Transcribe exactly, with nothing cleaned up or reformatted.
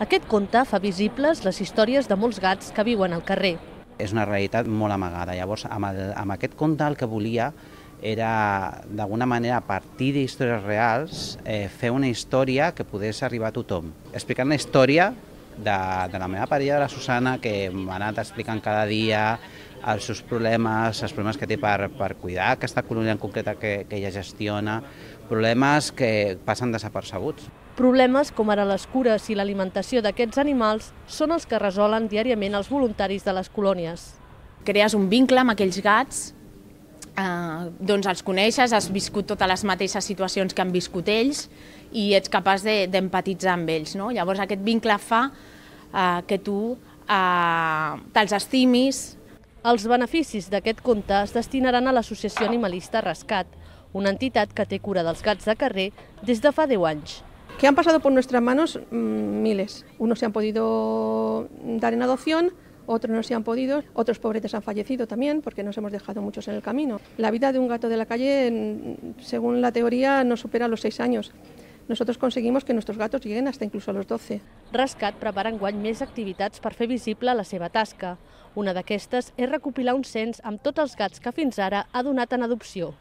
Aquest conte fa visibles les històries de molts gats que viuen al carrer. És una realitat molt amagada. Llavors, amb, el, amb aquest conte el que volia era, d'alguna manera, a partir d'històries reals, eh, fer una història que pogués arribar a tothom. Explicant la història de, de la meva parella, de la Susana, que m'ha anat explicant cada dia els seus problemes, els problemes que té per, per cuidar aquesta colònia en concreta que, que ella gestiona, problemes que passen desapercebuts. Problemes com ara les cures i l'alimentació d'aquests animals són els que resolen diàriament els voluntaris de les colònies. Crees un vincle amb aquells gats, eh, doncs els coneixes, has viscut totes les mateixes situacions que han viscut ells i ets capaç d'empatitzar amb ells, no? Llavors aquest vincle fa eh, que tu eh, te'ls estimis. Els beneficis d'aquest conte es destinaran a l'associació animalista Rescat, una entitat que té cura dels gats de carrer des de fa deu anys. Que han pasado por nuestras manos mmm, miles. Unos se han podido dar en adopción, otros no se han podido, otros pobretes han fallecido también porque nos hemos dejado muchos en el camino. La vida de un gato de la calle, según la teoría, no supera los seis años. Nosotros conseguimos que nuestros gatos lleguen hasta incluso a los doce. Rescat prepara enguany més activitats per fer visible la seva tasca. Una d'aquestes és recopilar un cens amb tots els gats que fins ara ha donat en adopció.